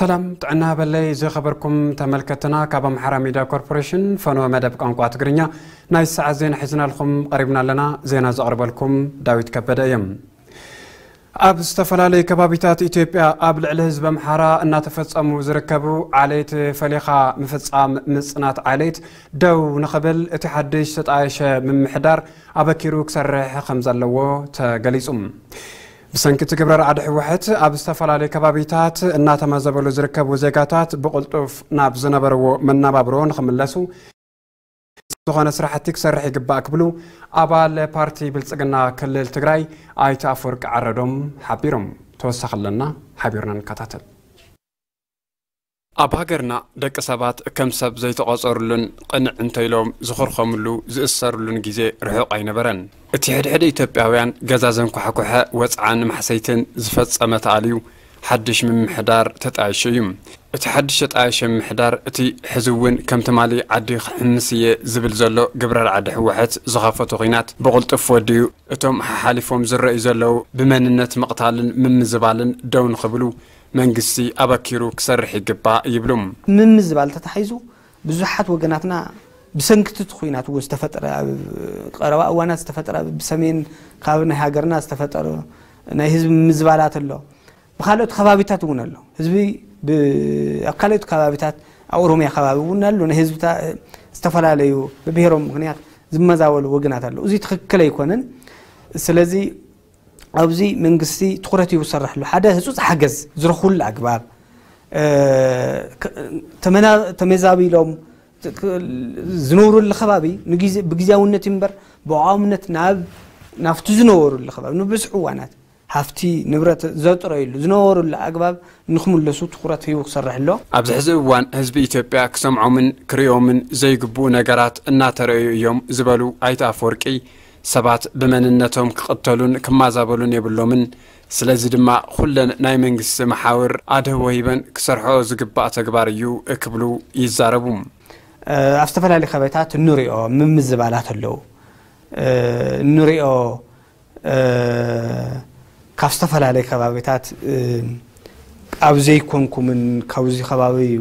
ሰላም ጥዕና በለይ ዝኸበርኩም ተመልከትና፣ ካብ ኣምሓራ ሚድያ ኮርፖሬሽን ፈኖ መደብ ቋንቋ ትግርኛ ናይ ሰዓት ዜና ሒዝናልኩም ቀሪብና ኣለና። ዜና ዘቕርበልኩም ዳዊት ከበደ እየ። ኣብ ዝተፈላለዩ ከባቢታት ኢትዮጵያ ኣብ ልዕሊ ህዝቢ ኣምሓራ እናተፈጸሙ ዝርከቡ ዓሌት ፈሊኻ ምፍጻም ምጽናት ዓሌት ደው ንኽብል እቲ ሓድሽ ዝተጣየሸ ምምሕዳር ኣበኪሩ ክሰርሕ ከም ዘለዎ ተገሊጹ። ብሰንኪ እቲ ግብረ ራዕዲ ህወሓት ኣብ ዝተፈላለዩ ከባቢታት እናተመዘበሉ ዝርከቡ ዜጋታት ብቕልጡፍ ናብ ዝነበርዎ መነባብሮ ንኽምለሱ ዝኾነ ስራሕቲ ክሰርሕ ይግባእ ክብሉ ኣባል ፓርቲ ብልጽግና ክልል ትግራይ ኣይተ ኣፈወርቂ ዓረዶም ሓቢሮም። ተወሳኺ ኣለና፣ ሓቢርና ንከታተል። ኣብ ሃገርና ደቂ ሰባት ከም ሰብ ዘይተቖጸሩሉን ቅንዕ እንተኢሎም ዝኹርኸምሉ ዝእሰሩሉን ግዜ ርሑቕ ኣይነበረን። እቲ ሕድሕድ ኢትዮጵያውያን ገዛ ዘንኳሕኩሐ ወጽዓን ማሕሰይትን ዝፈጸመ ተኣልዩ ሓድሽ ምምሕዳር ተጣይሹ እዩ። እቲ ሓድሽ ተጣየሸ ምምሕዳር እቲ ሕዚ እውን ከም ትማሊ ዓዲ ክሕምስ እየ ዝብል ዘሎ ግብረ ራዕዲ ህወሓት ዝኸፈቶ ኲናት ብቕልጡፍ ወዲኡ እቶም ሓሓሊፎም ዝረኣዩ ዘለዉ ብመንነት ምቕታልን ምምዝባልን ደው ንኽብሉ መንግስቲ ኣበኪሩ ክሰርሕ ይግባእ ይብሉ። ምምዝባል ተታሒዙ ብዙሓት ወገናትና ብሰንክቲ እቲ ኲናት እውን ዝተፈጠረ፣ ኣብ ቀረባ እዋናት ዝተፈጠረ፣ ብሰሜን ካብ ናይ ሃገርና ዝተፈጠረ ናይ ህዝቢ ምምዝባላት ኣሎ። ብካልኦት ከባቢታት እውን ኣሎ። ህዝቢ ብ-፣ ኣብ ካልኦት ከባቢታት ኣብ ኦሮሚያ ከባቢ እውን ኣሎ። ናይ ህዝብታ-፣ ዝተፈላለዩ ብብሔሮም ምኽንያት ዝመዛበሉ ወገናት ኣለዉ። እዚ ትኽክል ኣይኮነን። ስለዚ ኣብዚ መንግስቲ ትኹረት ሂቡ ዝሰርሕ ኣሎ። ሓደ ህጹጽ ሓገዝ ዝረኽብሉ ኣግባብ፣ እ፣ ክ-፣ ተመና-፣ ተመዛቢሎም ክ-፣ ዝነብሩሉ ከባቢ ንግዜ-፣ ብግዜያውነት እምበር ብቋምነት ናብ፣ ናብቲ ዝነበሩሉ ከባቢ ንብዝሒ እዋናት ሃፍቲ ንብረት ዘጥረዩሉ ዝነበሩሉ ኣግባብ ንክምለሱ ትኹረት ሂቡ ክሰርሕ ኣሎ። ኣብዚ ሕዚ እዋን ህዝቢ ኢትዮጵያ ክሰምዖምን ክርእዮምን ዘይግብኡ ነገራት እናተረእዩ እዮም ዝበሉ ኣይተ ኣፈወርቂ፣ ሰባት ብመንነቶም ክቕተሉን ክማዛበሉን የብሎምን። ስለዚ ድማ ኩለን ናይ መንግስቲ መሓውር ኣድህቦ ሂበን ክሰርሕኦ ዝግባእ ተግባር እዩ ክብሉ ይዛረቡ። እ፣ ኣብ ዝተፈላለዩ ከባቢታት እንሪኦ ምምዝባላት ኣለዉ። እ፣ እንሪኦ፣ እ፣ ካብ ዝተፈላለዩ ከባቢታት፣ እ፣ ኣብ ዘይኮንኩምን ካብዚ ከባቢ እዩ፣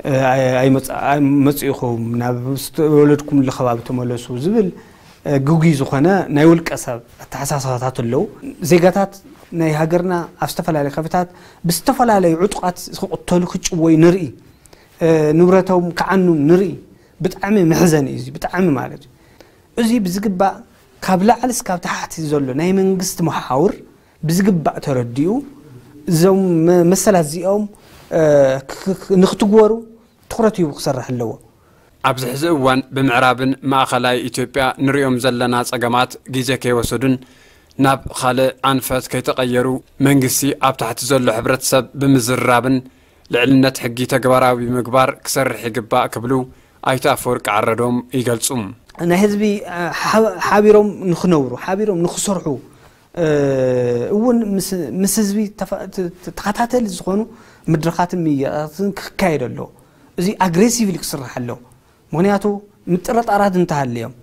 እ፣ ኣይ-፣ ኣይመጽ-፣ ኣይመጽኢኹም፣ ናብ ዝተወለድኩምሉ ከባቢ ተመለሱ ዝብል፣ እ፣ ግጉይ ዝኾነ ናይ ውልቀ ሰብ ኣተሓሳስባታት ኣለዉ። ዜጋታት ናይ ሃገርና ኣብ ዝተፈላለዩ ከባቢታት ብዝተፈላለዩ ዕጡቓት ክቕተሉ ክጭወዩ ንርኢ። እ፣ ንብረቶም ክዓኑ ንርኢ። ብጣዕሚ መሕዘኒ እዩ፣ እዚ ብጣዕሚ ማለት እዩ። እዚ ብዝግባእ ካብ ላዕሊ እስካብ ታሕቲ ዘሎ ናይ መንግስቲ መሓውር ብዝግባእ ተረዲኡ፣ እዞም መ-፣ መሰላት እዚኦም፣ እ፣ ክ-፣ ክ-፣ ንክትግበሩ ትኹረት ሂቡ ክሰርሕ ኣለዎ። ኣብዚ ሕዚ እዋን ብምዕራብን ማእኸላይ ኢትዮጵያ ንሪኦም ዘለና ጸገማት ግዜ ከይወሰዱን ናብ ካልእ ኣንፈት ከይተቐየሩ መንግስቲ ኣብ ታሕቲ ዘሎ ሕብረተሰብ ብምዝርራብን ልዕልነት ሕጊ ተግባራዊ ምግባር ክሰርሕ ይግባእ ክብሉ ኣይተ ኣፈወርቂ ዓረዶም ይገልጹ። ናይ ህዝቢ፣ እ፣ ሓ-፣ ሓቢሮም ንኽነብሩ፣ ሓቢሮም ንኽሰርሑ፣ እ፣ እውን ምስ፣ ምስ ህዝቢ ተፋ-፣ ተ-፣ ተ-፣ ተኸታተሊ ዝኾኑ መድረኻትን ምይይጣትን ክካየድ ኣለዎ። እዚ ኣግሬሲቭሊ ክስራሕ ኣለዎ። ምኽንያቱ ምጥርጣራት እንተሃልዮም፣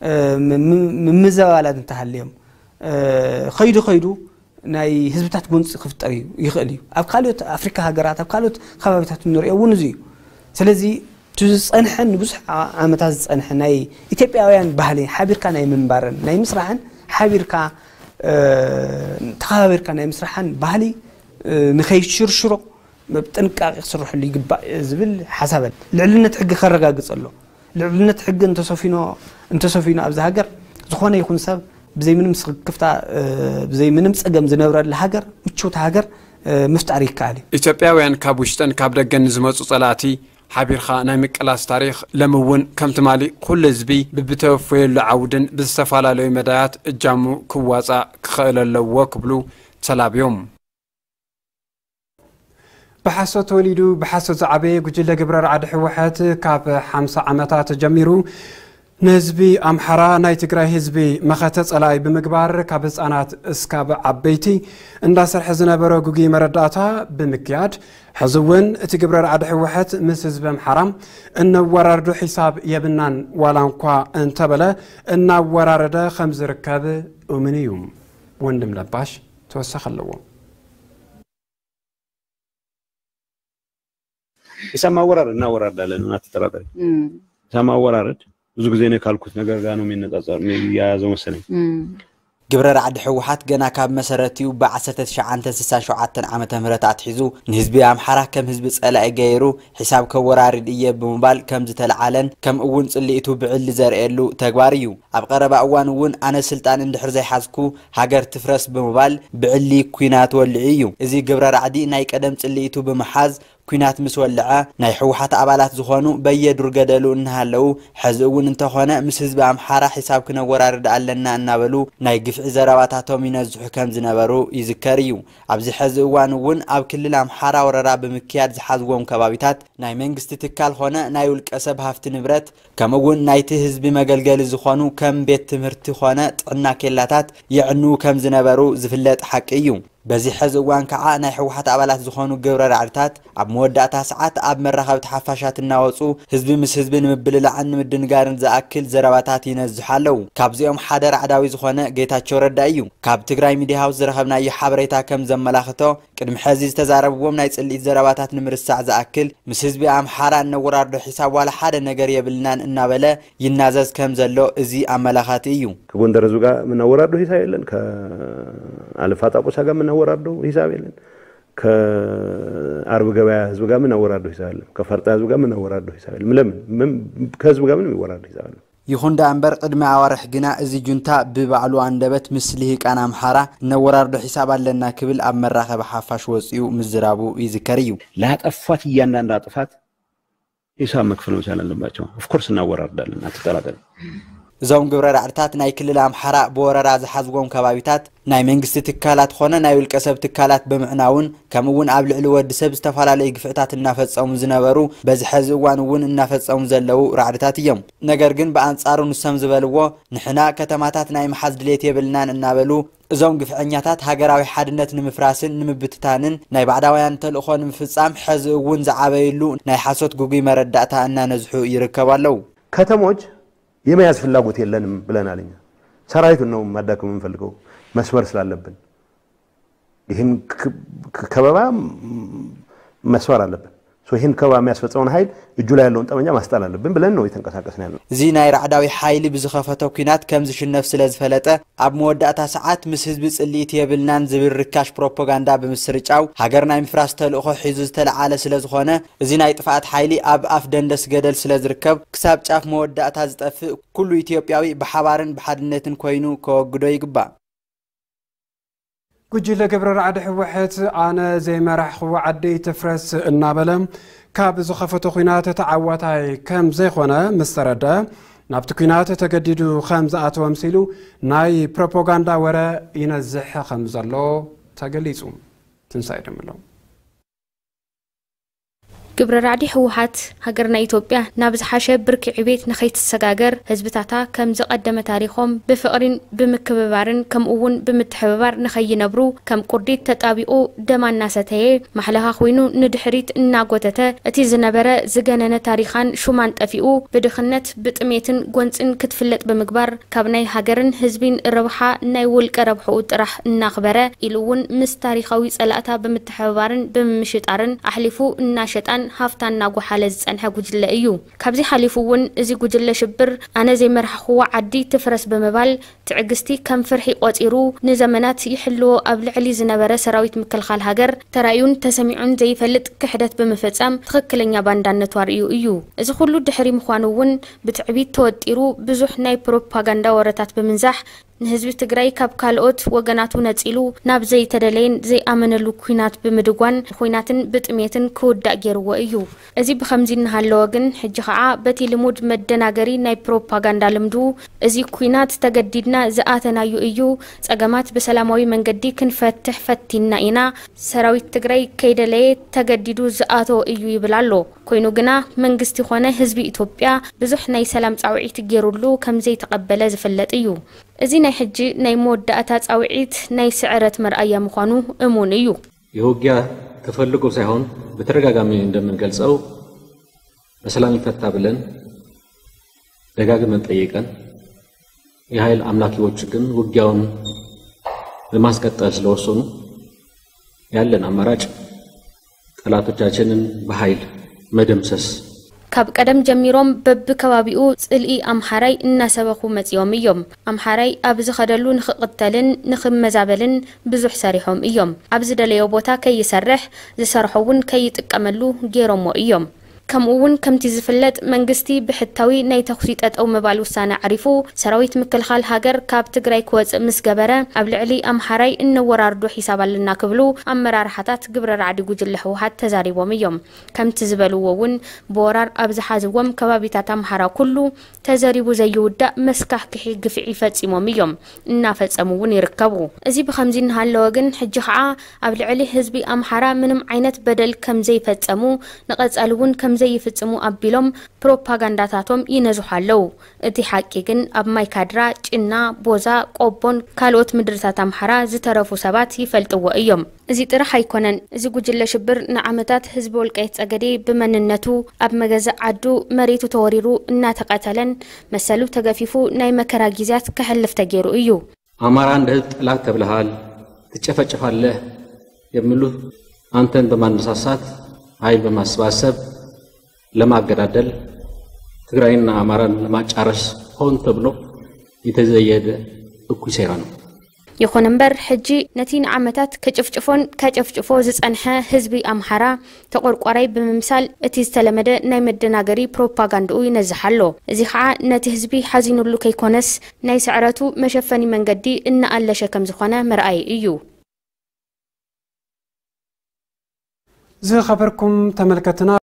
እ፣ ም-፣ ም-፣ ምምዘባላት እንተሃልዮም፣ እ፣ ኸይዱ ኸይዱ ናይ ህዝብታት ጎንፂ ክፍጠር እዩ፣ ይኽእል እዩ። ኣብ ካልኦት ኣፍሪካ ሃገራት፣ ኣብ ካልኦት ከባቢታት እንሪኦ እውን እዚ እዩ። ስለዚ እቲ ዝፀንሐን ንብዙሕ ዓ-፣ ዓመታት ዝፀንሐ ናይ ኢትዮጵያውያን ባህሊ ሓቢርካ ናይ ምንባርን ናይ ምስራሕን፣ ሓቢርካ፣ እ፣ ተኸባቢርካ ናይ ምስራሕን ባህሊ፣ እ፣ ንኸይሽርሽሮ ብጥንቃቄ ክስርሐሉ ይግባእ ዝብል ሓሳብ ኣሎ። ልዕልነት ሕጊ ከረጋግጽ ኣሎ። ልዕልነት ሕጊ እንተሰፊኖ፣ እንተሰፊኑ ኣብዚ ሃገር ዝኾነ ይኹን ሰብ ብዘይ ምንም ስክፍታ፣ እ፣ ብዘይ ምንም ጸገም ዝነብረላ ሃገር፣ ምችውቲ ሃገር፣ እ፣ ምፍጣር ይከኣል እዩ። ኢትዮጵያውያን ካብ ውሽጥን ካብ ደገን ንዝመጹ ጸላእቲ ሓቢርኻ ናይ ምቅላስ ታሪኽ ሎሚ እውን ከም ትማሊ ኩሉ ህዝቢ ብብተወፈየሉ ዓውድን ብዝተፈላለዩ መዳያት እጃሙ ክዋጻእ ክኽእል ኣለዎ ክብሉ ተላብዮም። ብሓሶት ተወሊዱ ብሓሶት ዝዓበየ ጉጅለ ግብረ ራዕዲ ህወሓት ካብ ሓምሳ ዓመታት ጀሚሩ ንህዝቢ ኣምሓራ ናይ ትግራይ ህዝቢ መኸተ ጸላኢ ብምግባር ካብ ህጻናት እስካብ ዓበይቲ እንዳሰርሐ ዝነበረ ግጉይ መረዳእታ ብምክያድ፣ ሕዚ እውን እቲ ግብረ ራዕዲ ህወሓት ምስ ህዝቢ ኣምሓራ እነወራርዶ ሒሳብ የብናን፣ ዋላ እንኳ እንተበለ እናወራረደ ከም ዝርከብ እሙን እዩ። ወንድም ለባሽ ተወሳኺ ኣለዎ። ሒሳብ ማወራረድ እናወራረድ ኣለና፣ እናተጠራጠሪ። ሒሳብ ማወራረድ ብዙ ጊዜ እኔ ካልኩት ነገር ጋር ነው የሚነጻጸር፣ የሚያያዘው መሰለኝ። ግብረ ራዕዲ ህወሓት ገና ካብ መሰረቲኡ ብ1967 ዓመተ ምህረት ኣትሒዙ ንህዝቢ ኣምሓራ ከም ህዝቢ ጸላኢ ገይሩ ሒሳብ ከወራርድ እየ ብምባል ከም ዝተለዓለን ከም እውን ጽልኢቱ ብዕሊ ዘርእየሉ ተግባር እዩ። ኣብ ቀረባ እዋን እውን ኣነ ስልጣን እንድሕር ዘይሓዝኩ ሃገር ትፍረስ ብምባል ብዕሊ ኲናት ወልዑ እዩ። እዚ ግብረ ራዕዲ ናይ ቀደም ጽልኢቱ ብምሓዝ ኲናት ምስ ወልዐ ናይ ህወሓት ኣባላት ዝኾኑ በየዱር ገደሉ እናሃለዉ ሕዚ እውን እንተኾነ ምስ ህዝቢ ኣምሓራ ሒሳብ ክነወራርድ ኣለና እናበሉ ናይ ግፍዒ ዘረባታቶም ይነዝሑ ከም ዝነበሩ ይዝከር እዩ። ኣብዚ ሕዚ እዋን እውን ኣብ ክልል ኣምሓራ ወረራ ብምክያድ ዝሓዝዎም ከባቢታት ናይ መንግስቲ ትካል ኾነ ናይ ውልቀ ሰብ ሃፍቲ ንብረት ከምኡ እውን ናይቲ ህዝቢ መገልገሊ ዝኾኑ ከም ቤት ትምህርቲ ኾነ ጥዕና ኬላታት የዕንዉ ከም ዝነበሩ ዝፍለጥ ሓቂ እዩ። በዚ ሕዚ እዋን ከዓ ናይ ህወሓት ኣባላት ዝኾኑ ግብረ ራዕድታት ኣብ መወዳእታ ሰዓት ኣብ መራኸብቲ ሓፋሻት እናወፁ ህዝቢ ምስ ህዝቢ ንምብልላዕን ንምድንጋርን ዝኣክል ዘረባታት ይነዝሑ ኣለዉ። ካብዚኦም ሓደ ራዕዳዊ ዝኾነ ጌታቸው ረዳ እዩ። ካብ ትግራይ ሚዲያ ሃውስ ዝረኸብናዮ ሓበሬታ ከም ዘመላኽቶ ቅድሚ ሕዚ ዝተዛረብዎም ናይ ጽልኢት ዘረባታት ንምርሳዕ ዝኣክል ምስ ህዝቢ ኣምሓራ እነወራርዶ ሒሳብ ዋላ ሓደ ነገር የብልናን እናበለ ይናዘዝ ከም ዘሎ እዚ ኣመላኻቲ እዩ። ከጎንደር ህዝብ ጋር የምናወራርደው ሂሳብ የለን። ከአለፋ ጣቁሳ ጋር የምናወራርደው ሂሳብ የለን። ከአርብ ገበያ ህዝብ ጋር የምናወራርደው ሂሳብ የለን። ከፋርጣ ህዝብ ጋር የምናወራርደው ሂሳብ የለን። ለምን? ከህዝብ ጋር ምንም የሚወራረድ ሂሳብ የለም። ይኹን ደኣ እምበር ቅድሚ ኣዋርሕ ግና እዚ ጁንታ ብባዕሉ ኣንደበት ምስ ልሂቃን ኣምሓራ እነወራርዶ ሒሳብ ኣለና ክብል ኣብ መራኸቢ ሓፋሽ ወፂኡ ምዝራቡ ይዝከር እዩ። ላጠፏት እያንዳንዷ ጥፋት ሂሳብ መክፈል መቻል ኣለባቸው። ኦፍኮርስ እናወራርዳለን፣ አትጠራጠር። እዞም ግብረ ራዕድታት ናይ ክልል ኣምሓራ ብወረራ ዝሓዝዎም ከባቢታት ናይ መንግስቲ ትካላት ኾነ ናይ ውልቀ ሰብ ትካላት ብምዕናውን ከምኡ እውን ኣብ ልዕሊ ወዲ ሰብ ዝተፈላለዩ ግፍዕታት እናፈፀሙ ዝነበሩ በዚ ሐዚ እዋን እውን እናፈፀሙ ዘለዉ ራዕድታት እዮም። ነገር ግን ብኣንፃሩ ንሶም ዝበልዎ ንሕና ከተማታት ናይ ምሓዝ ድሌት የብልናን እናበሉ እዞም ግፍዐኛታት ሃገራዊ ሓድነት ንምፍራስን ንምብትታንን ናይ ባዕዳውያን ተልእኾ ንምፍፃም ሐዚ እውን ዝዓበይሉ ናይ ሓሶት ግጉይ መረዳእታ እናነዝሑ ይርከቡ ኣለዉ። ከተሞች የመያዝ ፍላጎት የለንም ብለናል። እኛ ሰራዊቱን ነው ማዳከም የምንፈልገው መስበር ስላለብን ይህን ከበባ መስበር አለብን። ይህን ከበባ የሚያስፈጸመውን ኃይል እጁ ላይ ያለውን ጠመንጃ ማስጣል አለብን ብለን ነው የተንቀሳቀስን ያለው። እዚ ናይ ራዕዳዊ ሓይሊ ብዝኸፈቶ ኲናት ከም ዝሽነፍ ስለ ዝፈለጠ ኣብ መወዳእታ ሰዓት ምስ ህዝቢ ጽልኢት የብልናን ዝብል ርካሽ ፕሮፓጋንዳ ብምስርጫው ሃገር ናይ ምፍራስ ተልእኾ ሒዙ ዝተለዓለ ስለ ዝኾነ እዚ ናይ ጥፍኣት ሓይሊ ኣብ ኣፍ ደንደስ ገደል ስለ ዝርከብ ክሳብ ጫፍ መወዳእታ ዝጠፍእ ኩሉ ኢትዮጵያዊ ብሓባርን ብሓድነትን ኮይኑ ከወግዶ ይግባእ። ጉጅለ ግብረ ራዕዲ ህወሓት ኣነ ዘይመራሕኽዎ ዓዲ ትፍረስ እናበለ ካብ ዝኸፈቶ ኲናት ተዓዋታይ ከም ዘይኾነ ምስ ተረድአ ናብቲ ኲናት ተገዲዱ ከም ዝኣተወ ኣምሲሉ ናይ ፕሮፓጋንዳ ወረ ይነዝሕ ከም ዘሎ ተገሊፁ። ትንሳኤ ደምለው። ግብረ ራዕዲ ህወሓት ሃገርና ኢትዮጵያ ናብ ዝሓሸ ብርኪ ዕቤት ንኸይትሰጋገር ህዝብታታ ከም ዝቐደመ ታሪኾም ብፍቕሪን ብምክብባርን ከምኡ እውን ብምትሕብባር ንኸይነብሩ ከም ቁርዲት ተጣቢቑ ደማ እናሰተየ ማሕለኻ ኮይኑ ንድሕሪት እናጎተተ እቲ ዝነበረ ዝገነነ ታሪኻን ሹማን ጠፊኡ ብድኽነት ብጥሜትን ጎንፅን ክትፍለጥ ብምግባር ካብ ናይ ሃገርን ህዝቢን ረብሓ ናይ ውልቀ ረብሕኡ ጥራሕ እናኽበረ ኢሉ እውን ምስ ታሪኻዊ ፀላእታ ብምትሕብባርን ብምምሽጣርን ኣሕሊፉ እናሸጣን ሃፍታ እናጎሓለ ዝፀንሐ ጉጅለ እዩ። ካብዚ ሓሊፉ እውን እዚ ጉጅለ ሽብር ኣነ ዘይመራሕኽዎ ዓዲ ትፍረስ ብምባል ትዕግስቲ ከም ፍርሒ ቆፂሩ ንዘመናት ይሕልዎ ኣብ ልዕሊ ዝነበረ ሰራዊት ምክልኻል ሃገር ተራእዩን ተሰሚዑን ዘይፈልጥ ክሕደት ብምፍፃም ትኽክለኛ ባንዳነቱ ኣርእዩ እዩ። እዚ ኩሉ ድሕሪ ምዃኑ እውን ብትዕቢት ተወጢሩ ብዙሕ ናይ ፕሮፓጋንዳ ወረታት ብምንዛሕ ንህዝቢ ትግራይ ካብ ካልኦት ወገናቱ ነፂሉ ናብ ዘይተደለየን ዘይኣመነሉ ኲናት ብምድጓን ኹናትን ብጥሜትን ክውዳእ ገይርዎ እዩ። እዚ ብኸምዚ እናሃለወ ግን ሕጂ ኸዓ በቲ ልሙድ መደናገሪ ናይ ፕሮፓጋንዳ ልምዱ እዚ ኲናት ተገዲድና ዝኣተናዩ እዩ፣ ፀገማት ብሰላማዊ መንገዲ ክንፈትሕ ፈቲንና ኢና፣ ሰራዊት ትግራይ ከይደለየ ተገዲዱ ዝኣተዎ እዩ ይብል ኣሎ። ኮይኑ ግና መንግስቲ ኾነ ህዝቢ ኢትዮጵያ ብዙሕ ናይ ሰላም ፃውዒት ገይሩሉ ከምዘይተቐበለ ዝፍለጥ እዩ። እዚ ናይ ሕጂ ናይ መወዳእታ ፃውዒት ናይ ስዕረት መርኣያ ምዃኑ እሙን እዩ። የውጊያ ተፈልጎ ሳይሆን በተደጋጋሚ እንደምንገልጸው በሰላም ይፈታ ብለን ደጋግመን ጠይቀን የኃይል አምላኪዎች ግን ውጊያውን ለማስቀጠል ስለወሰኑ ያለን አማራጭ ጠላቶቻችንን በኃይል መደምሰስ። ካብ ቀደም ጀሚሮም በብከባቢኡ ጽልኢ ኣምሓራይ እናሰበኹ መጺኦም እዮም። ኣምሓራይ ኣብ ዝኸደሉ ንኽቕተልን ንኽመዛበልን ብዙሕ ሰሪሖም እዮም። ኣብ ዝደለዮ ቦታ ከይሰርሕ፣ ዝሰርሖ እውን ከይጥቀመሉ ገይሮሞ እዮም። ከምኡ እውን ከምቲ ዝፍለጥ መንግስቲ ብሕታዊ ናይ ተኹሲ ጠጠው ምባል ውሳነ ኣዕሪፉ ሰራዊት ምክልኻል ሃገር ካብ ትግራይ ክወፅእ ምስ ገበረ ኣብ ልዕሊ ኣምሓራይ እነወራርዶ ሒሳብ ኣለና ክብሉ ኣመራርሓታት ግብረ ራዕዲ ጉጅለ ህወሓት ተዛሪቦም እዮም። ከምቲ ዝበልዎ እውን ብወራር ኣብ ዝሓዝዎም ከባቢታት ኣምሓራ ኩሉ ተዘሪቡ ዘይውዳእ መስካሕክሒ ግፍዒ ፈፂሞም እዮም እናፈፀሙ እውን ይርከቡ። እዚ ብኸምዚ እናሃለወ ግን ሕጂ ከዓ ኣብ ልዕሊ ህዝቢ ኣምሓራ ምንም ዓይነት በደል ከም ዘይፈጸሙ ንቐጻሊ እውን ከም ዘይፍጽሙ ኣቢሎም ፕሮፓጋንዳታቶም ይነዝሑ ኣለዉ። እቲ ሓቂ ግን ኣብ ማይካድራ፣ ጭና፣ ቦዛ፣ ቆቦን ካልኦት ምድርታት ኣምሓራ ዝተረፉ ሰባት ይፈልጥዎ እዮም። እዚ ጥራሕ ኣይኮነን። እዚ ጉጅለ ሽብር ንዓመታት ህዝቢ ወልቃይት ጸገዴ ብመንነቱ ኣብ መገዛእ ዓዱ መሬቱ ተወሪሩ እናተቐተለን መሰሉ ተገፊፉ ናይ መከራ ጊዜያት ከሕልፍ ተገይሩ እዩ። አማራ እንደ ህዝብ ጠላት ተብለሃል፣ ትጨፈጨፋለህ የሚሉ አንተን በማነሳሳት ኃይል በማሰባሰብ ለማገዳደል ትግራይና አማራን ለማጫረስ ሆን ተብሎ የተዘየደ እኩይ ሴራ ነው። ይኹን እምበር ሕጂ ነቲ ንዓመታት ከጭፍጭፎን ከጨፍጭፎ ዝጸንሐ ህዝቢ ኣምሓራ ተቆርቋራይ ብምምሳል እቲ ዝተለመደ ናይ መደናገሪ ፕሮፓጋንድኡ ይነዝሕ ኣሎ። እዚ ኸዓ ነቲ ህዝቢ ሓዚኑሉ ከይኮነስ ናይ ስዕረቱ መሸፈኒ መንገዲ እናኣለሸ ከም ዝኾነ መርኣዪ እዩ። ዝኸበርኩም ተመልከትና